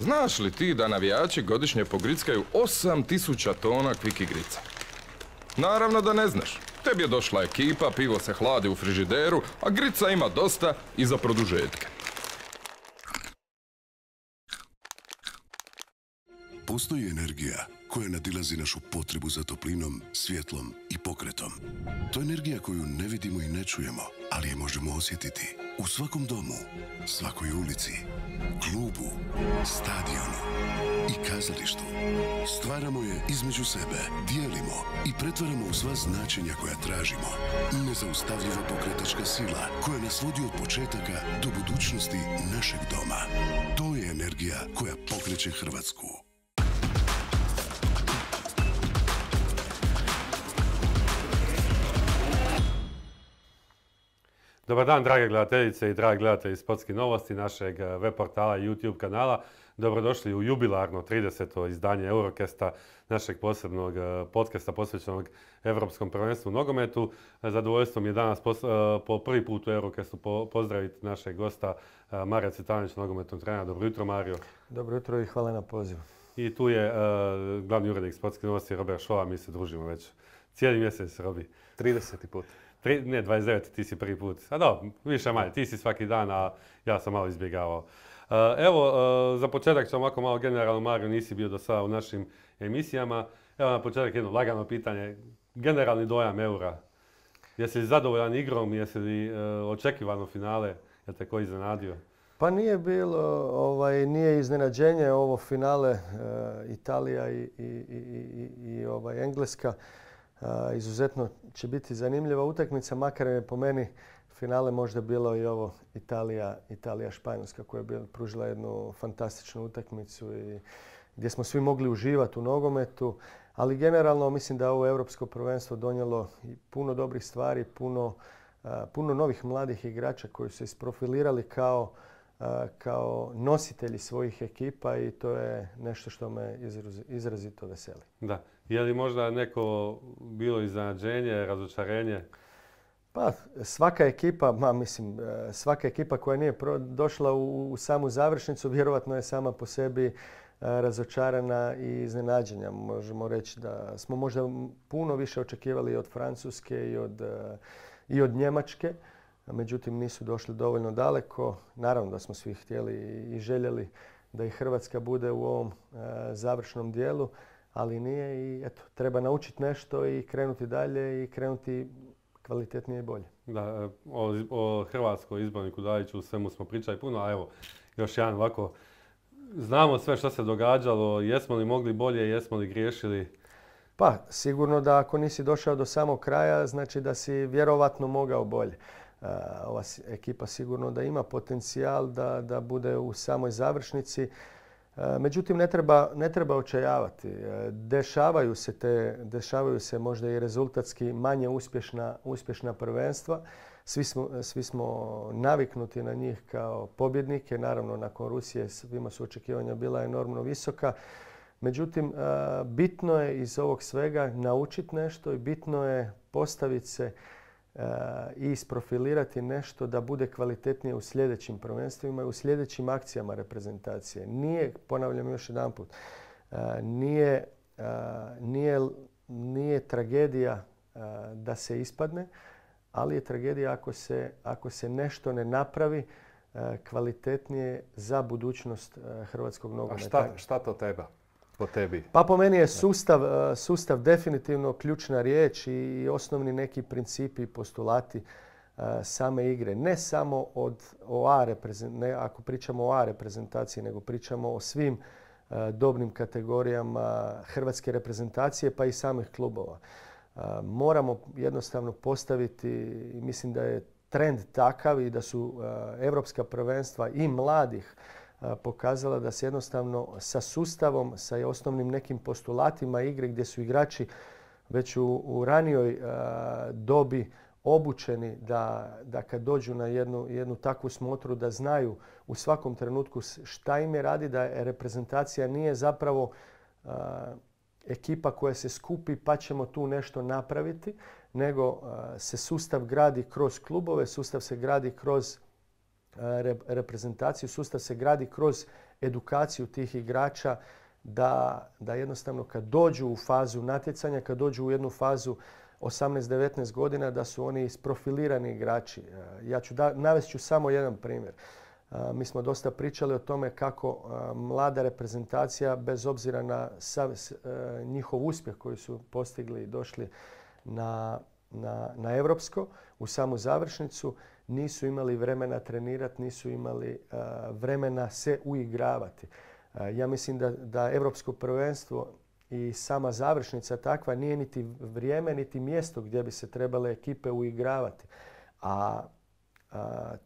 Znaš li ti da navijači godišnje pogrickaju 8000 tona kvik igrica? Naravno da ne znaš. Tebi je došla ekipa, pivo se hladi u frižideru, a grica ima dosta i za produžetke. Postoji energija koja nadilazi našu potrebu za toplinom, svjetlom i pokretom. To je energija koju ne vidimo i ne čujemo, ali je možemo osjetiti u svakom domu, svakoj ulici, klubu, stadionu i kazalištu. Stvaramo je između sebe, dijelimo i pretvaramo u sva značenja koja tražimo. Nezaustavljiva pokretačka sila koja nas vodi od početaka do budućnosti našeg doma. To je energija koja pokreće Hrvatsku. Dobar dan, drage gledateljice i dragi gledatelji Sportskih novosti našeg web portala i YouTube kanala. Dobrodošli u jubilarno 30. izdanje Eurocasta, našeg posebnog podcasta posvećenog Europskom prvenstvu u nogometu. Zadovoljstvo mi je danas po prvi put u Eurocastu pozdraviti našeg gosta Marija Cvitanovića, nogometnog trenera. Dobro jutro, Mario. Dobro jutro i hvala na pozivu. I tu je glavni urednik Sportskih novosti Robert Šola. Mi se družimo već cijeli mjesec, Robi. 30. put. Ne, 29. ti si prvi put. A dobro, više manje. Ti si svaki dan, a ja sam malo izbjegavao. Evo, za početak ću ovako malo generalno, Mario, nisi bio do sada u našim emisijama. Evo na početak jedno lagano pitanje. Generalni dojam Eura. Jesi li zadovoljan igrom? Jesi li očekivano finale? Je te ko iznenadio? Pa nije bilo, nije iznenađenje ovo finale Italija i Engleska. Izuzetno će biti zanimljiva utakmica, makar je po meni finale možda bilo i ovo Italija-Španjolska koja je pružila jednu fantastičnu utakmicu i gdje smo svi mogli uživati u nogometu. Ali generalno mislim da ovo europsko prvenstvo donijelo i puno dobrih stvari, puno novih mladih igrača koji su se isprofilirali kao nositelji svojih ekipa i to je nešto što me izrazito veseli. Da. Je li možda neko bilo iznenađenje, razočarenje? Pa svaka ekipa koja nije došla u samu završnicu vjerojatno je sama po sebi razočarana i iznenađenja. Možemo reći da smo možda puno više očekivali od Francuske i od Njemačke. Međutim, nisu došli dovoljno daleko. Naravno da smo svi htjeli i željeli da i Hrvatska bude u ovom završnom dijelu, ali nije i eto, treba naučiti nešto i krenuti dalje i krenuti kvalitetnije i bolje. Da, o hrvatskoj izborniku Dajiću, svemu smo pričali puno, a evo, još jedan ovako, znamo sve što se događalo, jesmo li mogli bolje, jesmo li griješili? Pa, sigurno da ako nisi došao do samog kraja, znači da si vjerovatno mogao bolje. Ova ekipa sigurno da ima potencijal da bude u samoj završnici. Međutim, ne treba očajavati. Dešavaju se možda i rezultatski manje uspješna prvenstva. Svi smo naviknuti na njih kao pobjednike. Naravno, nakon Rusije svima su očekivanja bila enormno visoka. Međutim, bitno je iz ovog svega naučiti nešto i bitno je postaviti se i isprofilirati nešto da bude kvalitetnije u sljedećim prvenstvima i u sljedećim akcijama reprezentacije. Nije, ponavljam još jedanput, nije tragedija da se ispadne, ali je tragedija ako se nešto ne napravi kvalitetnije za budućnost hrvatskog nogometa. A šta to treba? Po tebi? Pa po meni je sustav definitivno ključna riječ i osnovni neki principi i postulati same igre. Ne samo ako pričamo o A reprezentaciji, nego pričamo o svim dobnim kategorijama hrvatske reprezentacije pa i samih klubova. Moramo jednostavno postaviti, mislim da je trend takav i da su europska prvenstva i mladih pokazala da se jednostavno sa sustavom, sa osnovnim nekim postulatima igre gdje su igrači već u ranijoj dobi obučeni da kad dođu na jednu takvu smotru da znaju u svakom trenutku šta im je radi, da reprezentacija nije zapravo ekipa koja se skupi pa ćemo tu nešto napraviti, nego se sustav gradi kroz klubove, sustav se gradi kroz reprezentaciju, sustav se gradi kroz edukaciju tih igrača da jednostavno kad dođu u fazu natjecanja, kad dođu u jednu fazu 18-19 godina, da su oni isprofilirani igrači. Navest ću samo jedan primjer. Mi smo dosta pričali o tome kako mlada reprezentacija, bez obzira na njihov uspjeh koji su postigli i došli na europsko, u samu završnicu, nisu imali vremena trenirati, nisu imali vremena se uigravati. Ja mislim da europsko prvenstvo i sama završnica takva nije niti vrijeme, niti mjesto gdje bi se trebale ekipe uigravati. A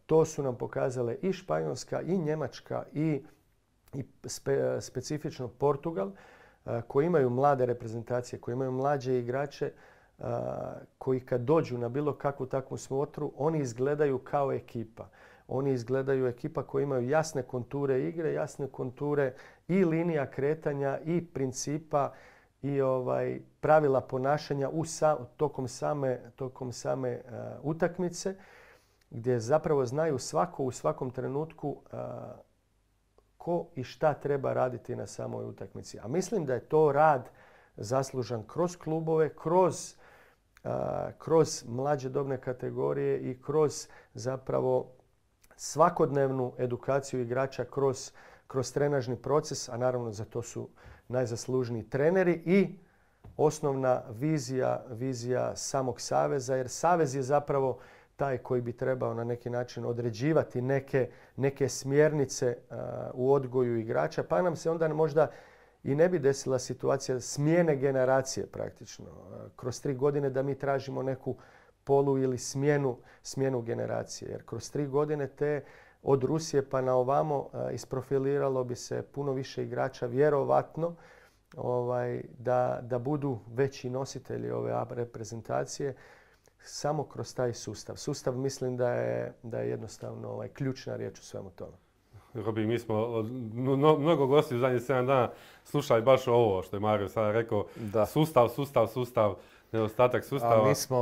to su nam pokazale i Španjolska, i Njemačka, i specifično Portugal, koji imaju mlade reprezentacije, koji imaju mlađe igrače, koji kad dođu na bilo kakvu takvu smotru, oni izgledaju kao ekipa. Oni izgledaju ekipa koji imaju jasne konture igre, jasne konture i linija kretanja i principa i pravila ponašanja tokom same utakmice, gdje zapravo znaju svako u svakom trenutku ko i šta treba raditi na samoj utakmici. A mislim da je to rad zaslužan kroz klubove, kroz mlađe dobne kategorije i kroz zapravo svakodnevnu edukaciju igrača kroz trenažni proces, a naravno za to su najzaslužniji treneri i osnovna vizija samog saveza, jer savez je zapravo taj koji bi trebao na neki način određivati neke smjernice u odgoju igrača, pa nam se onda možda i ne bi desila situacija smjene generacije praktično. Kroz 3 godine da mi tražimo neku polu ili smjenu generacije. Jer kroz 3 godine od Rusije pa na ovamo isprofiliralo bi se puno više igrača, vjerovatno da budu veći nositelji ove reprezentacije samo kroz taj sustav. Sustav mislim da je jednostavno ključna riječ u svemu tome. Robi, mi smo mnogo gosti u zadnjih 7 dana slušali baš ovo što je Mario sada rekao. Da. Sustav, nedostatak sustava. A mi smo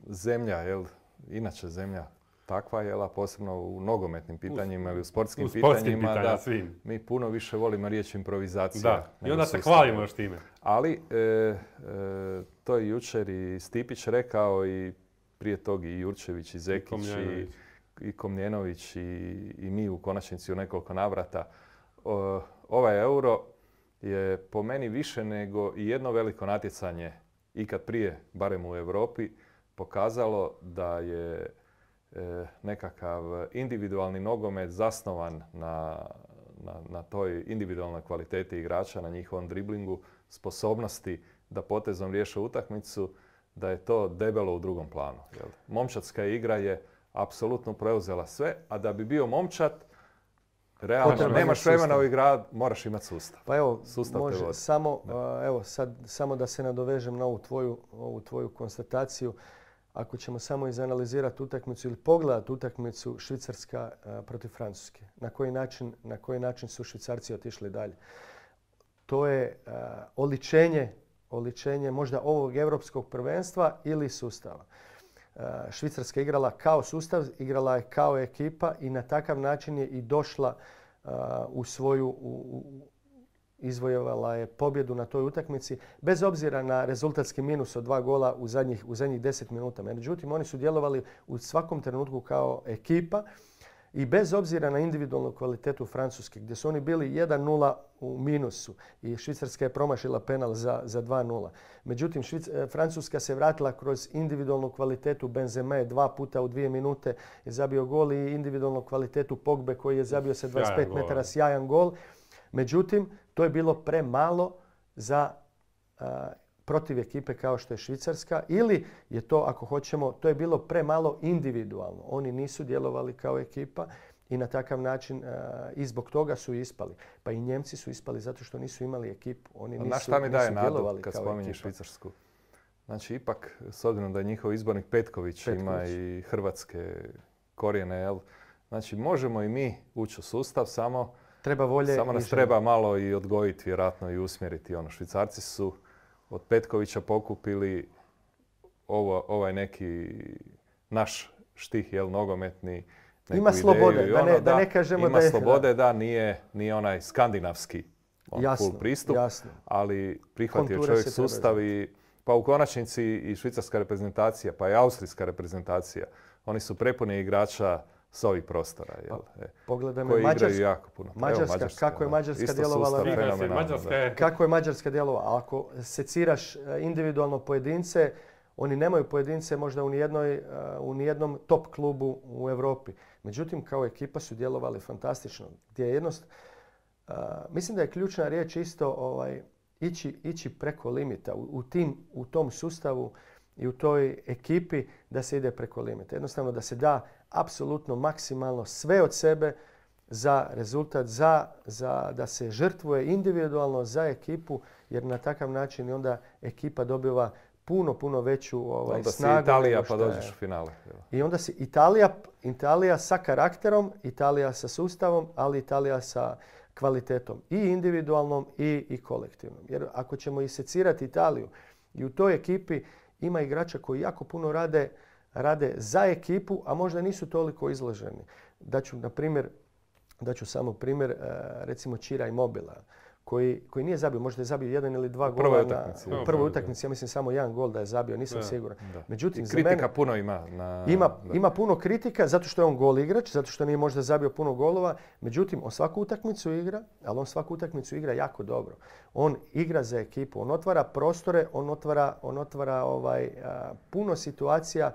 zemlja, inače zemlja takva, a posebno u nogometnim pitanjima ili u sportskim pitanjima, da svim. Mi puno više volimo riječ improvizacija. Da, i onda se hvalimo još time. Ali to je jučer i Stipić rekao i prije tog i Jurčević i Zekić i Komljenović i mi u konačnici u nekoliko navrata. Ovaj Euro je po meni više nego i jedno veliko natjecanje ikad prije, barem u Europi, pokazalo da je nekakav individualni nogomet zasnovan na toj individualnoj kvaliteti igrača, na njihovom driblingu, sposobnosti da potezom riješe utakmicu, da je to debelo u drugom planu. Momčadska igra je apsolutno preuzela sve, a da bi bio momčad, realno nemaš vremena u igru, moraš imati sustav. Pa evo, može samo da se nadovežem na ovu tvoju konstataciju. Ako ćemo samo izanalizirati utakmicu ili pogledati utakmicu Švicarska protiv Francuske, na koji način su Švicarci otišli dalje. To je oličenje možda ovog europskog prvenstva ili sustava. Švicarska igrala kao sustav, igrala je kao ekipa i na takav način je i došla izvojevala je pobjedu na toj utakmici, bez obzira na rezultatski minus od 2 gola u zadnjih 10 minuta. Međutim, oni su djelovali u svakom trenutku kao ekipa i bez obzira na individualnu kvalitetu Francuske, gdje su oni bili 1-0 u minusu i Švicarska je promašila penal za 2-0. Međutim, Francuska se vratila kroz individualnu kvalitetu Benzeme, 2 puta u 2 minute je zabio gol i individualnu kvalitetu Pogbe koji je zabio sa 25 metara sjajan gol. Međutim, to je bilo premalo za protiv ekipe kao što je Švicarska ili je to, ako hoćemo, to je bilo premalo individualno. Oni nisu djelovali kao ekipa i na takav način i zbog toga su ispali. Pa i Njemci su ispali zato što nisu imali ekipu. Oni nisu šta mi daje nadu kad spominješ Švicarsku? Znači, ipak, s obzirom da je njihov izbornik Petković ima i hrvatske korijene, znači možemo i mi ući u sustav, samo nas treba malo i odgojiti, vjerojatno i usmjeriti. Švicarci su od Petkovića pokupili ovaj neki naš štih, nogometni, Ima slobode, da ne kažemo da je... Ima slobode, da, nije onaj skandinavski full pristup, ali prihvatio čovjek sustav i pa u konačnici i švicarska reprezentacija, pa i austrijska reprezentacija, oni su prepuni igrača s ovih prostora. Pogledajmo koji igraju jako puno. Mađarska, kako je Mađarska djelovala? Kako je Mađarska djelovala? Ako seciraš individualno pojedince, oni nemaju pojedince možda u nijednom top klubu u Europi. Međutim, kao ekipa su djelovali fantastično. Mislim da je ključna riječ isto ići preko limita. U tom sustavu i u toj ekipi da se ide preko limita. Jednostavno da se da apsolutno maksimalno sve od sebe za rezultat, da se žrtvuje individualno za ekipu, jer na takav način i onda ekipa dobiva puno veću snagu. Onda si Italija pa dođeš u finale. I onda si Italija sa karakterom, Italija sa sustavom, ali Italija sa kvalitetom i individualnom i kolektivnom. Jer ako ćemo isecirati Italiju i u toj ekipi ima igrača koji jako puno rade za ekipu, a možda nisu toliko izloženi. Daću samo primjer, recimo Cira Immobila, koji nije zabio, možda je zabio 1 ili 2 gola na prvoj utakmici. Ja mislim samo 1 gol da je zabio, nisam siguran. Međutim, kritika puno ima. Ima puno kritika zato što je on gol igrač, zato što nije možda zabio puno golova. Međutim, on svaku utakmicu igra, ali on svaku utakmicu igra jako dobro. On igra za ekipu, on otvara prostore, on otvara puno situacija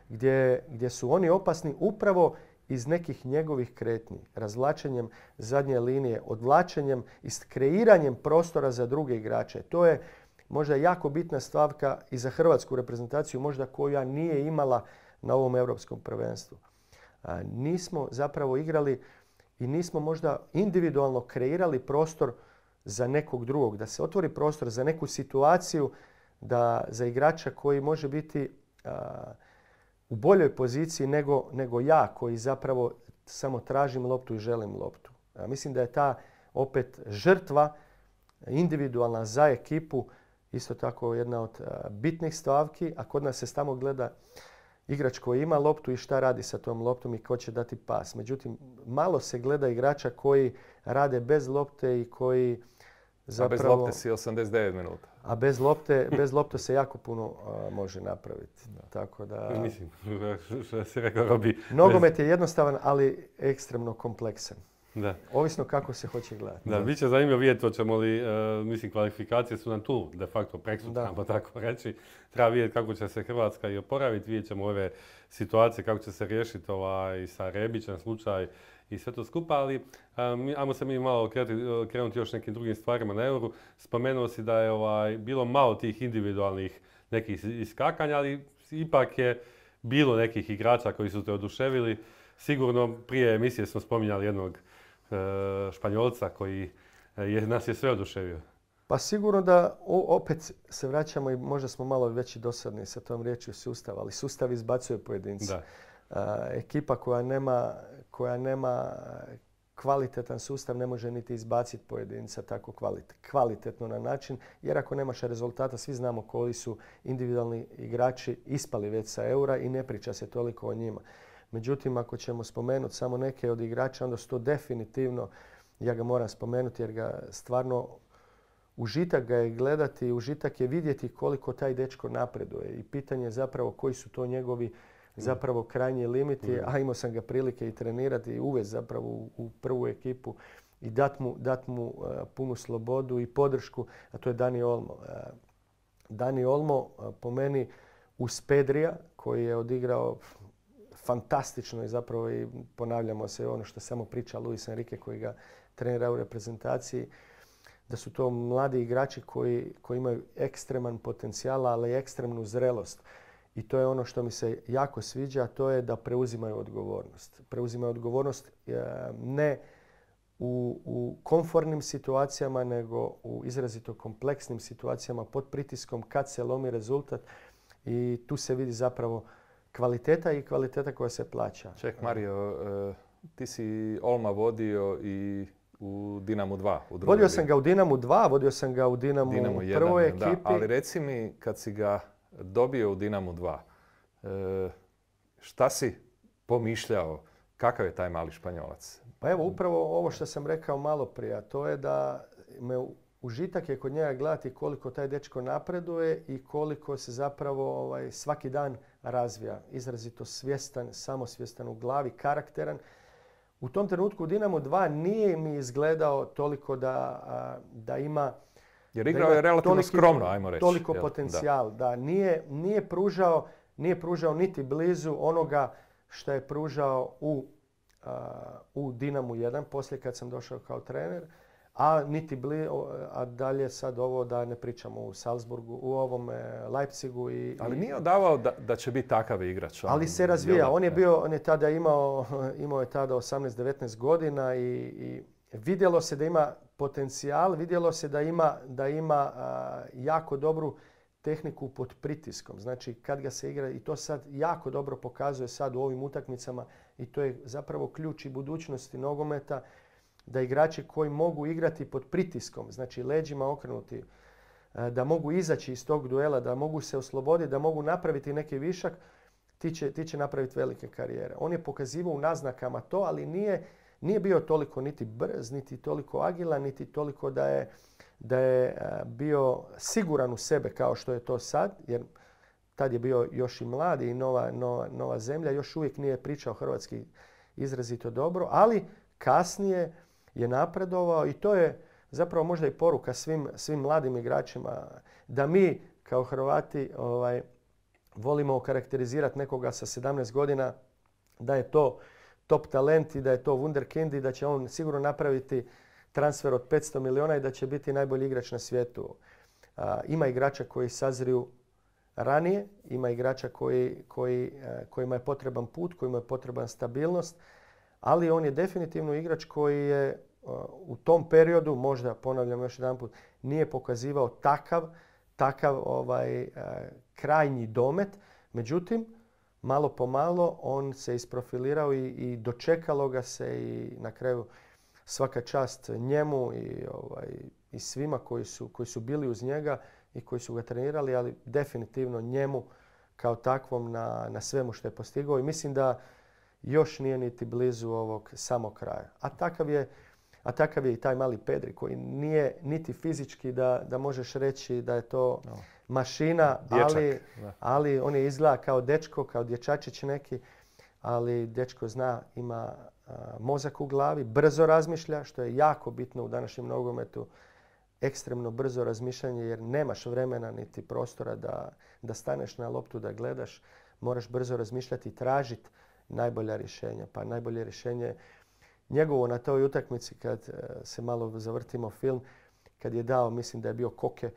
gdje su oni opasni upravo iz nekih njegovih kretnji, razvlačenjem zadnje linije, odvlačenjem i kreiranjem prostora za druge igrače. To je možda jako bitna stavka i za hrvatsku reprezentaciju, možda koja nije imala na ovom europskom prvenstvu. Nismo zapravo igrali i nismo možda individualno kreirali prostor za nekog drugog, da se otvori prostor za neku situaciju za igrača koji može biti u boljoj poziciji nego ja koji zapravo samo tražim loptu i želim loptu. Mislim da je ta opet žrtva individualna za ekipu isto tako jedna od bitnih stavki, a kod nas se tamo gleda igrač koji ima loptu i šta radi sa tom loptom i ko će dati pas. Međutim, malo se gleda igrača koji rade bez lopte i koji zapravo... A bez lopte si 89 minuta. A bez lopte se jako puno može napraviti. Tako da... Mislim, što si rekao, Robi... Nogomet je jednostavan, ali ekstremno kompleksan. Da. Ovisno kako se hoće gledati. Da, bit će zanimljivo vidjeti hoćemo li, mislim, kvalifikacije su nam tu de facto preksutra, pa tako reći. Treba vidjeti kako će se Hrvatska i oporaviti, vidjet ćemo ove situacije, kako će se riješiti sa Rebićem slučaj i sve to skupa, ali ajmo se mi malo krenuti još nekim drugim stvarima na Euru. Spomenuo si da je bilo malo tih individualnih nekih iskakanja, ali ipak je bilo nekih igrača koji su te oduševili. Sigurno prije emisije smo spominjali jednog Španjolca koji nas je sve oduševio. Pa sigurno da opet se vraćamo i možda smo malo već i dosadni sa tom riječju sustav, ali sustav izbacuje pojedince. Ekipa koja nema kvalitetan sustav ne može niti izbaciti pojedinca tako kvalitetno na način, jer ako nemaš rezultata, svi znamo koji su individualni igrači ispali već sa Eura i ne priča se toliko o njima. Međutim, ako ćemo spomenuti samo neke od igrača, onda su to definitivno, ja ga moram spomenuti jer ga stvarno užitak ga je gledati, užitak je vidjeti koliko taj dečko napreduje i pitanje je zapravo koji su to njegovi zapravo krajnji limiti, a imao sam ga prilike i trenirati i uvesti zapravo u prvu ekipu i dat mu punu slobodu i podršku, a to je Dani Olmo. Dani Olmo po meni uz Pedrija koji je odigrao fantastično i zapravo i ponavljamo se ono što samo priča Luis Enrique koji ga trenira u reprezentaciji, da su to mladi igrači koji imaju ekstreman potencijal, ali i ekstremnu zrelost. I to je ono što mi se jako sviđa, a to je da preuzimaju odgovornost. Preuzimaju odgovornost ne u komfortnim situacijama, nego u izrazito kompleksnim situacijama pod pritiskom kad se lomi rezultat i tu se vidi zapravo kvaliteta i kvaliteta koja se plaća. Ček, Mario, ti si Olma vodio i u Dinamu 2. Vodio sam ga u Dinamu 2, vodio sam ga u Dinamu 1 prvoj ekipi. Da, ali reci mi, kad si ga dobio u Dinamu 2, šta si pomišljao Kakav je taj mali Španjolac? Pa evo, upravo ovo što sam rekao malo prije, a to je da užitak je kod njega gledati koliko taj dečko napreduje i koliko se zapravo svaki dan razvija. Izrazito svjestan, samosvjestan u glavi, karakteran. U tom trenutku u Dinamo 2 nije mi izgledao toliko da ima... Jer igrao je relativno skromno, ajmo reći. Toliko potencijal. Da, nije pružao niti blizu onoga što je pružao u Dinamu 1, poslije kad sam došao kao trener. A dalje sad ovo da ne pričamo u Salzburgu, u ovom Leipzigu. Ali nije odavao da će biti takav igrač. Ali se razvija. On je tada imao je tada 18-19 godina i vidjelo se da ima potencijal, vidjelo se da ima jako dobru tehniku pod pritiskom. Znači kad ga se igra, i to sad jako dobro pokazuje sad u ovim utakmicama, i to je zapravo ključ i budućnosti nogometa, da igrači koji mogu igrati pod pritiskom, znači leđima okrenuti, da mogu izaći iz tog duela, da mogu se osloboditi, da mogu napraviti neki višak, ti će napraviti velike karijere. On je pokazivao u naznakama to, ali nije bio toliko niti brz, niti toliko agilan, niti toliko da je bio siguran u sebe kao što je to sad, jer tad je bio još i mlad i nova zemlja, još uvijek nije pričao hrvatski izrazito dobro, ali kasnije je napredovao i to je zapravo možda i poruka svim mladim igračima da mi kao Hrvati volimo okarakterizirati nekoga sa 17 godina da je to top talent i da je to wunderkind i da će on sigurno napraviti transfer od 500 milijuna i da će biti najbolji igrač na svijetu. Ima igrača koji sazriju ranije, ima igrača kojima je potreban put, kojima je potreban stabilnost, ali on je definitivno igrač koji je u tom periodu, možda ponavljam još jedanput, nije pokazivao takav krajnji domet. Međutim, malo po malo on se isprofilirao i dočekalo ga se i na kraju svaka čast njemu i svima koji su bili uz njega i koji su ga trenirali, ali definitivno njemu kao takvom na svemu što je postigao i mislim da još nije niti blizu ovog samog kraja. A takav je i taj mali Pedri koji nije niti fizički da možeš reći da je to mašina, ali on je izgleda kao dečko, kao dječačić neki, ali dečko zna, ima mozak u glavi, brzo razmišlja, što je jako bitno u današnjem nogometu. Ekstremno brzo razmišljanje jer nemaš vremena niti prostora da staneš na loptu, da gledaš. Moraš brzo razmišljati i tražiti najbolja rješenja. Pa najbolje rješenje njegovo na toj utakmici kad se malo zavrtimo film, kad je dao, mislim da je bio Koke,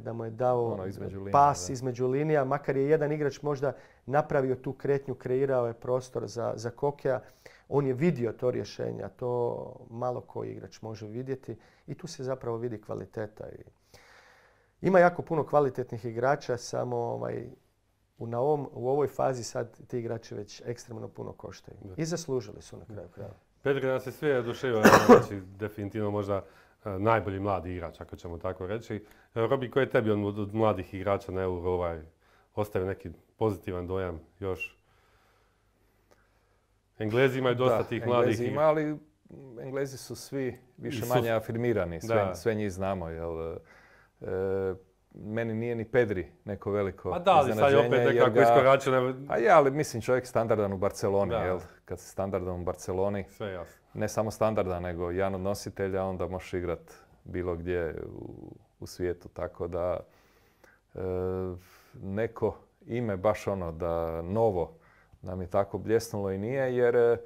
da mu je dao pas između linija. Makar je jedan igrač možda napravio tu kretnju, kreirao je prostor za Kokea. On je vidio to rješenje, a to malo koji igrač može vidjeti i tu se zapravo vidi kvaliteta. Ima jako puno kvalitetnih igrača, samo u ovoj fazi sad ti igrači već ekstremno puno koštaju. I zaslužili su na kraju krajeva. Pedri nas je sve oduševio, znači definitivno možda najbolji mladi igrač, ako ćemo tako reći. Robi, koji je tebi od mladih igrača na Euro ostavio neki pozitivan dojam još? Englezi imaju dosta tih mladih. Englezi ima, ali Englezi su svi više manje afirmirani, sve njih znamo. Meni nije ni Pedri neko veliko iznenađenje. Da, ali sad opet nekako iskoračio. Ali mislim čovjek standardan u Barceloni. Kad si standardan u Barceloni, sve jasno. Ne samo standardan, nego jedan od nositelja, onda možeš igrat bilo gdje u svijetu. Tako da neko ime baš da novo nam je tako bljesnulo i nije, jer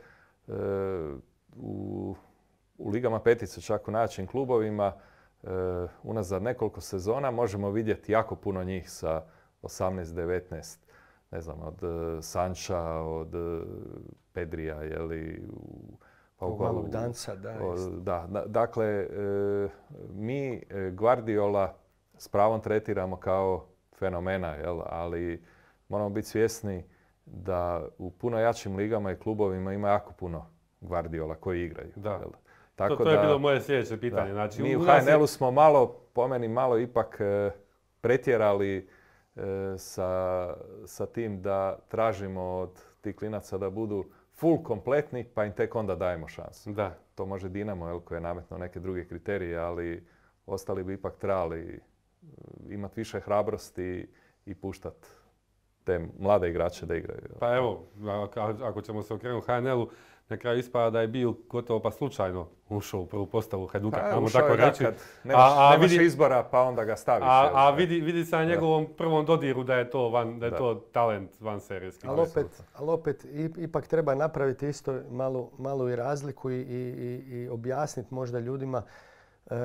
u ligama petice, čak u najjačim klubovima, unazad nekoliko sezona možemo vidjeti jako puno njih sa 18-19, ne znam, od Sancha, od Pedrija, malog danca, Dakle, mi Guardiola s pravom tretiramo kao fenomena, ali moramo biti svjesni da u puno jačim ligama i klubovima ima jako puno Guardiola koji igraju. To je bilo moje sljedeće pitanje. Znači, mi u HNL-u smo malo ipak pretjerali sa tim da tražimo od tih klinaca da budu full kompletni, pa im tek onda dajemo šansu. Da. To može Dinamo, koji je nametno neke druge kriterije, ali ostali bi ipak trebali imati više hrabrosti i puštati te mlade igrače da igraju. Pa evo, ako ćemo se okrenuti HNL-u, na kraju ispada da je bio gotovo pa slučajno ušao u prvu postavu Hajduka, Pa, tako reći. Kad nemaš izbora, pa onda ga staviš. A vidi se na njegovom prvom dodiru da je to talent vanserijski. Ali opet, ipak treba napraviti isto malu i razliku i objasniti možda ljudima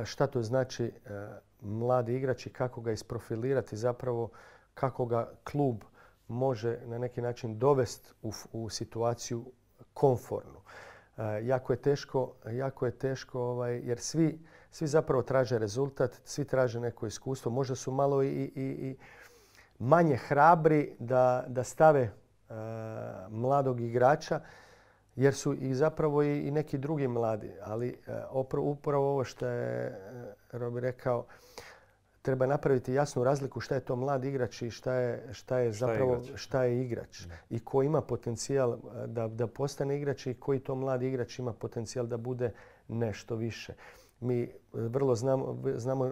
šta to znači mladi igrač i kako ga isprofilirati, zapravo kako ga klub može na neki način dovesti u situaciju komfornu. Jako je teško jer svi zapravo traže rezultat, svi traže neko iskustvo. Možda su malo i manje hrabri da stave mladog igrača, jer su i zapravo i neki drugi mladi. Ali upravo ovo što je Robi rekao, treba napraviti jasnu razliku šta je to mlad igrač i šta je igrač. I ko ima potencijal da postane igrač i koji to mlad igrač ima potencijal da bude nešto više. Mi vrlo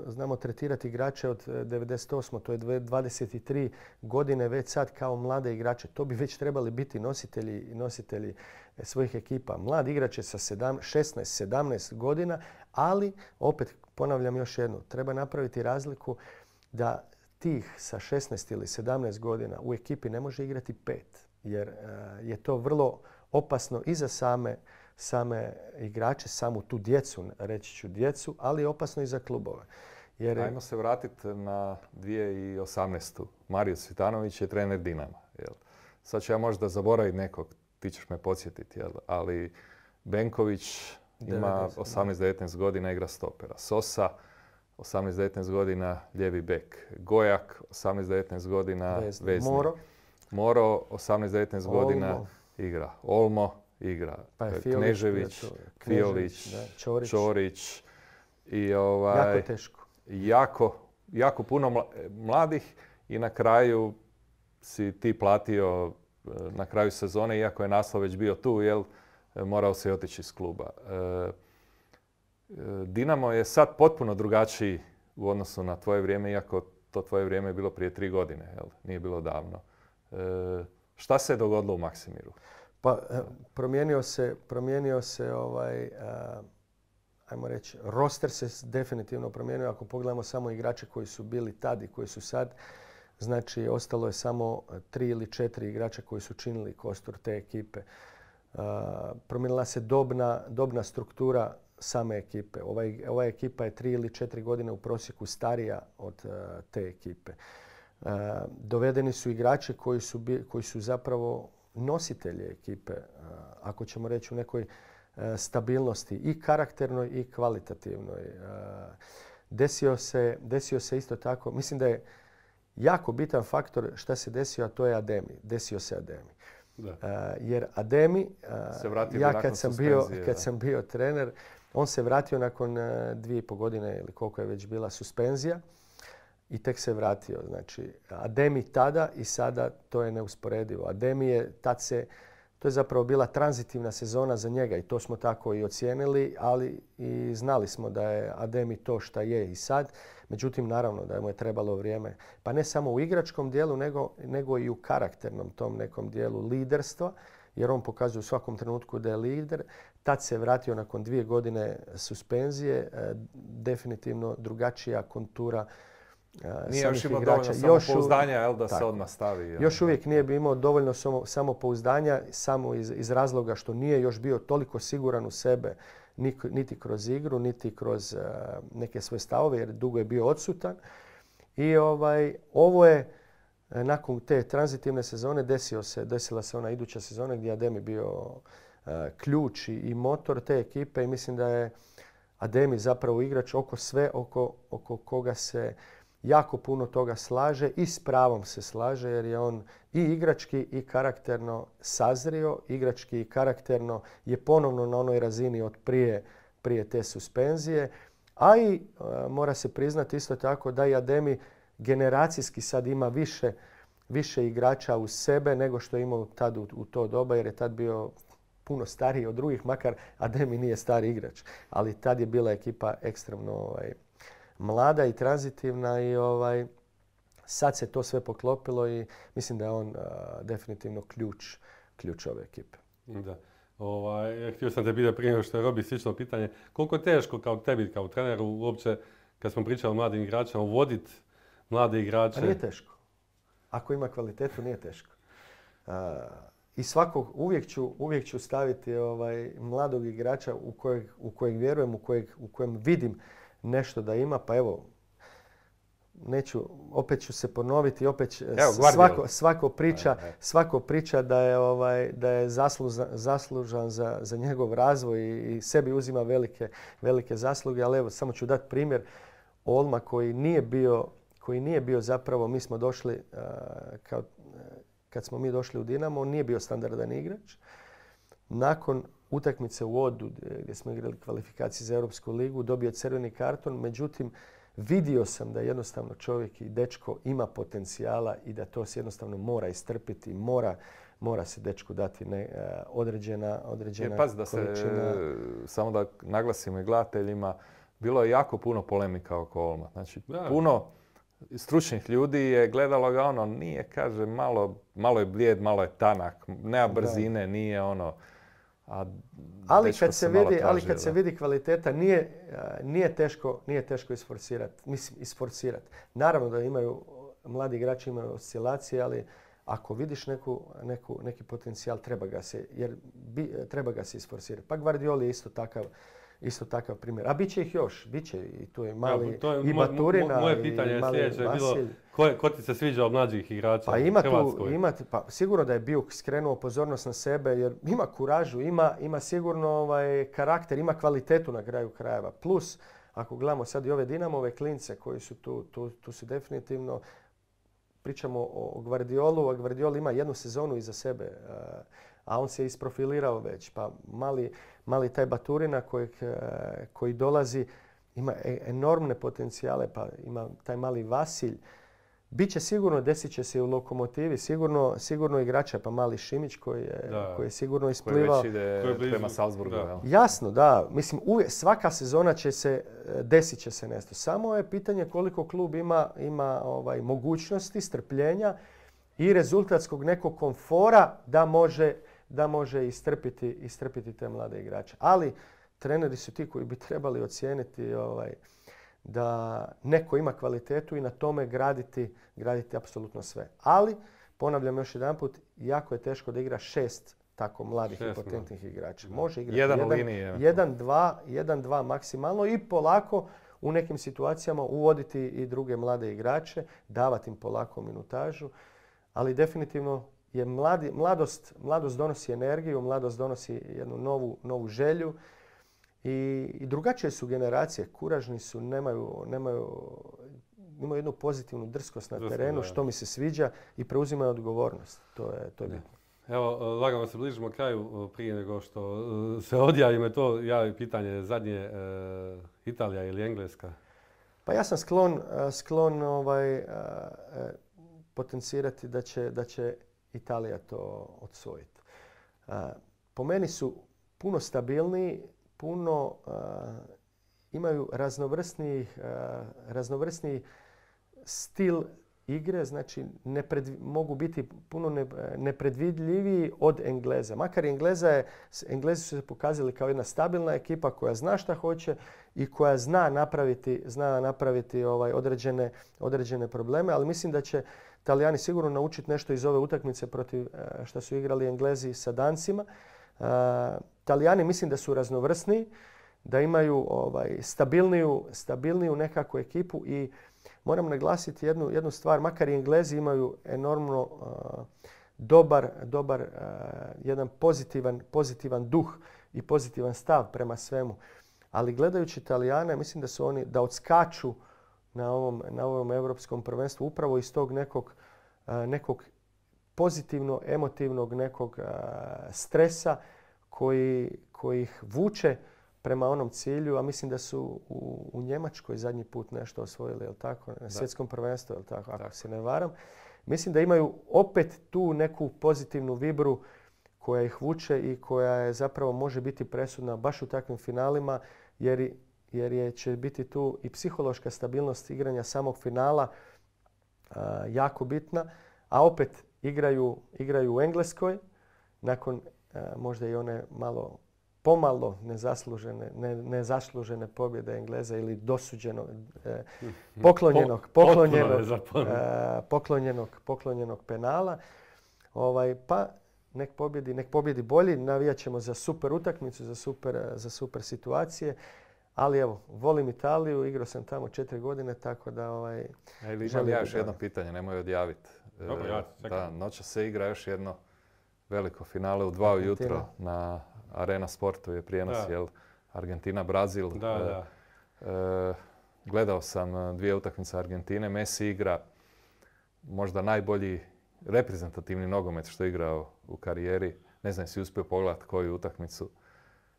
znamo tretirati igrače od 98. To je 23 godine već sad kao mlade igrače. To bi već trebali biti nositelji svojih ekipa. Mlad igrač je sa 16-17 godina, ali opet ponavljam još jednu. Treba napraviti razliku da tih sa 16 ili 17 godina u ekipi ne može igrati 5. Jer je to vrlo opasno i za same igrače, samu tu djecu, reći ću djecu, ali je opasno i za klubove. Ajmo se vratiti na 2018. Mario Cvitanović je trener Dinama. Sad ću ja možda zaboraviti nekog, ti ćeš me podsjetiti, ali Benković ima 18-19 godina, igra stopera. Sosa, 18-19 godina, lijevi bek. Gojak, 18-19 godina, vezni. Moro, 18-19 godina, igra. Olmo, igra. Knežević, Fiolić, Ćorić. Jako teško. Jako puno mladih i na kraju si ti platio na kraju sezone, iako je naslov već bio tu, morao se otići iz kluba. Dinamo je sad potpuno drugačiji u odnosu na tvoje vrijeme, iako to tvoje vrijeme je bilo prije 3 godine, nije bilo davno. Šta se je dogodilo u Maksimiru? Pa promijenio se ajmo reći, roster se definitivno promijenio. Ako pogledamo samo igrače koji su bili tad i koji su sad, znači ostalo je samo 3 ili 4 igrača koji su činili kostur te ekipe. Promijenila se dobna struktura same ekipe. Ova ekipa je 3 ili 4 godine u prosjeku starija od te ekipe. Dovedeni su igrači koji su zapravo nositelji ekipe, ako ćemo reći u nekoj stabilnosti i karakternoj i kvalitativnoj. Desio se isto tako, mislim da je jako bitan faktor šta se desio, a to je Ademi. Desio se Ademi. Jer Ademi, ja kad sam bio trener, on se vratio nakon 2,5 godine ili koliko je već bila suspenzija i tek se vratio. Znači, Ademi tada i sada, to je neusporedivo. Ademi je to je zapravo bila tranzitivna sezona za njega i to smo tako i ocijenili, ali i znali smo da je Ademi to šta je i sad. Međutim, naravno da mu je trebalo vrijeme, pa ne samo u igračkom dijelu, nego i u karakternom tom nekom dijelu liderstva, jer on pokazuje u svakom trenutku da je lider. Tad se vratio nakon 2 godine suspenzije, definitivno drugačija kontura nije još imao dovoljno samopouzdanja da se odmah stavi. Još uvijek nije imao dovoljno samopouzdanja, samo iz razloga što nije još bio toliko siguran u sebe, niti kroz igru, niti kroz neke svoje stavove, jer dugo je bio odsutan. I ovo je, nakon te tranzitivne sezone, desila se ona iduća sezona gdje je Ademi bio ključ i motor te ekipe i mislim da je Ademi zapravo igrač oko koga se jako puno toga slaže i s pravom se slaže, jer je on i igrački i karakterno sazrio, igrački i karakterno je ponovno na onoj razini od prije te suspenzije, a i mora se priznati isto tako da i Ademi generacijski sad ima više igrača uz sebe nego što je imao tad u to doba, jer je tad bio puno stariji od drugih, makar Ademi nije stari igrač. Ali tad je bila ekipa ekstremno mlada i tranzitivna i sad se to sve poklopilo i mislim da je on definitivno ključ ove ekipe. Da. Htio sam te pitati prije nego što je Robi slično pitanje. Koliko je teško kao tebi, kao treneru, uopće, kad smo pričali o mladim igračima, uvoditi mlade igrače? A nije teško. Ako ima kvalitetu, nije teško. I uvijek ću staviti mladog igrača u kojeg vjerujem, u kojem vidim nešto da ima. Pa evo, opet ću se ponoviti, svako priča da je zaslužan za njegov razvoj i sebi uzima velike zasluge, ali evo samo ću dati primjer Olma koji nije bio zapravo, mi smo došli kad smo mi došli u Dinamo, on nije bio standardan igrač. Nakon utakmice u Odu gdje smo igrali kvalifikacije za Europsku ligu, dobio je crveni karton, međutim vidio sam da jednostavno čovjek i dečko ima potencijala i da to se jednostavno mora istrpiti, mora se dečku dati određena pazi da količina. Samo da naglasimo i gledateljima, bilo je jako puno polemika oko Olma. Znači, puno stručnih ljudi je gledalo ga nije, kaže, malo je blijed, malo je tanak, nema brzine, nije Ali kad se vidi kvaliteta, nije teško isforsirati. Naravno da mladi igrači imaju oscilacije, ali ako vidiš neki potencijal, treba ga se isforsirati. Pa Gvardioli je isto takav primjer. A bit će ih još, bit će i tu je mali i Baturina. Moje pitanje je sljedeće bilo, ko ti se sviđa od mlađih igrača u Hrvatskoj? Sigurno da je Biuk skrenuo pozornost na sebe jer ima kuražu, ima sigurno karakter, ima kvalitetu na kraju krajeva. Plus, ako gledamo sad i ove Dinamove klince koji su tu su definitivno, pričamo o Gvardiolu, a Gvardiol ima jednu sezonu iza sebe, a on se isprofilirao već. Pa mali taj Baturina koji dolazi ima enormne potencijale, pa ima taj mali Vasilj. Biće sigurno, desit će se u Lokomotivi, sigurno igrača, pa mali Šimić koji je sigurno isplivao. Koji već ide prema Salzburgu. Jasno, da. Mislim, svaka sezona desit će se nešto. Samo je pitanje koliko klub ima mogućnosti, strpljenja i rezultatskog nekog komfora da može istrpiti te mlade igrače. Ali treneri su ti koji bi trebali ocijeniti da neko ima kvalitetu i na tome graditi apsolutno sve. Ali, ponavljam još jedanput, jako je teško da igra 6 tako mladih i potentnih igrača. Može igrati jedan, dva maksimalno i polako u nekim situacijama uvoditi i druge mlade igrače, davati im polako minutažu, ali definitivno je mladost donosi energiju, mladost donosi jednu novu želju i drugačije su generacije. Kuražni su, imaju jednu pozitivnu drskost na terenu, što mi se sviđa i preuzimaju odgovornost. To je bitno. Evo, lagano se bližimo kraju prije nego što se odjavimo. To javi pitanje zadnje, Italija ili Engleska? Pa ja sam sklon potencirati da će Italija to odsvojiti. Po meni su puno stabilniji, imaju raznovrsniji stil igre, znači mogu biti puno nepredvidljiviji od Engleza. Makar Englezi su se pokazali kao jedna stabilna ekipa koja zna šta hoće i koja zna napraviti određene probleme, ali mislim da će Talijani sigurno naučiti nešto iz ove utakmice protiv što su igrali Englezi sa Dancima. Talijani mislim da su raznovrsniji, da imaju stabilniju nekakvu ekipu i moram naglasiti jednu stvar, makar i Englezi imaju enormno dobar jedan pozitivan duh i pozitivan stav prema svemu. Ali gledajući Talijane, mislim da su oni, da odskaču na ovom europskom prvenstvu upravo iz tog nekog pozitivno emotivnog nekog stresa koji ih vuče prema onom cilju, a mislim da su u Njemačkoj zadnji put nešto osvojili, jel tako? Na svjetskom prvenstvu, jel tako? Ako se ne varam. Mislim da imaju opet tu neku pozitivnu vibru koja ih vuče i koja je zapravo može biti presudna baš u takvim finalima jer će biti tu i psihološka stabilnost igranja samog finala jako bitna. A opet igraju u Engleskoj nakon možda i one pomalo nezaslužene pobjede Engleza ili dosuđenog, poklonjenog penala. Pa nek pobjedi bolji, navijat ćemo za super utakmicu, za super situacije. Ali evo, volim Italiju, igrao sam tamo 4 godine, tako da imam ja još jedno pitanje, nemoj odjaviti. Dobro, ja čekam. Noćas se igra još jedno veliko finale u 2 ujutro na Arena Sportu je prijenos, jel? Argentina-Brazil. Gledao sam 2 utakmice Argentine. Messi igra možda najbolji reprezentativni nogomet što je igrao u karijeri. Ne znam, si uspio pogledati koju utakmicu.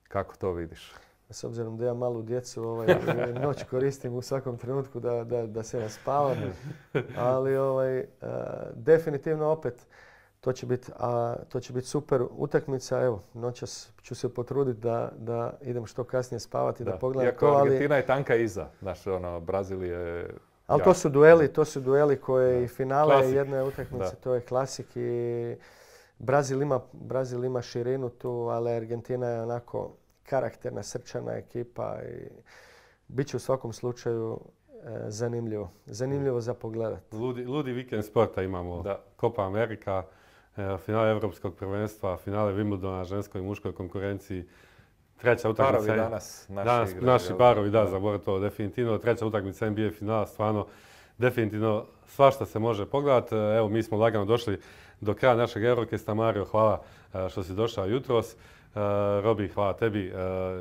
Kako to vidiš? S obzirom da ja malu djecu, noć koristim u svakom trenutku da se naspavam. Ali definitivno opet to će biti super utakmica. Evo, noćas ću se potruditi da idem što kasnije spavati, da pogledam to. Iako Argentina je tanka iza. Znaš, Brazil je... Ali to su dueli koje i finale jedne utakmice, to je klasik i Brazil ima širinu tu, ali Argentina je onako karakterna, srčana ekipa i bit će u svakom slučaju zanimljivo za pogledat. Ludi vikend sporta imamo. Copa America, finale Europskog prvenstva, finale Wimbledona, ženskoj i muškoj konkurenciji. Treća utakmica. Parovi danas naši parovi, zaboravim to definitivno. Treća utakmica NBA finala, stvarno definitivno svašta se može pogledati. Evo, mi smo lagano došli do kraja našeg Eurocasta. Mario, hvala što si došao jutros. Robi, hvala tebi.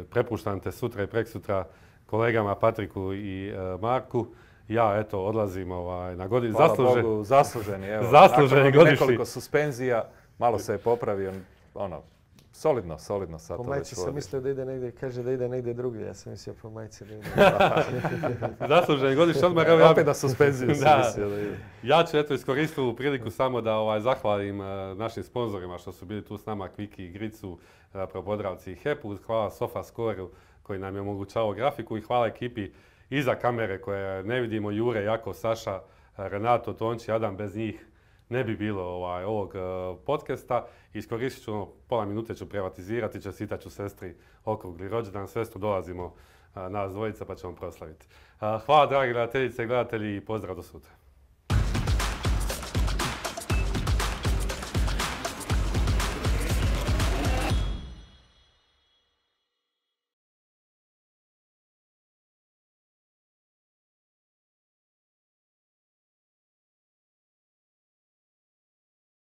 Prepuštam te sutra i preksutra kolegama Patriku i Marku. Ja, odlazim na godinu. Hvala Bogu, zasluženi. Evo, zasluženi godišnji. Nekoliko suspenzija, malo se je popravio. Solidno sad. Po majci sam mislio da ide negdje, kaže da ide negdje drugdje. Ja sam mislio po majci da ide. Zasluženi godišnji odmor. Opet na suspenziju sam mislio da ide. Ja ću iskoristiti ovu priliku samo da zahvalim našim sponzorima što su bili tu s nama, Kviki, Gricu, Podravci i HEP-u. Hvala SofaScore koji nam je omogućavao grafiku i hvala ekipi iza kamere koje ne vidimo, Jure, Jako, Saša, Renato, Tonči, Adam, bez njih ne bi bilo ovog podcasta. Iskoristit ću pola minute ću privatizirati, čestitat ću sestri okrugli rođendan, sestru dolazimo nas dvojica pa ćemo proslaviti. Hvala dragi gledateljice i gledatelji i pozdrav do sutra.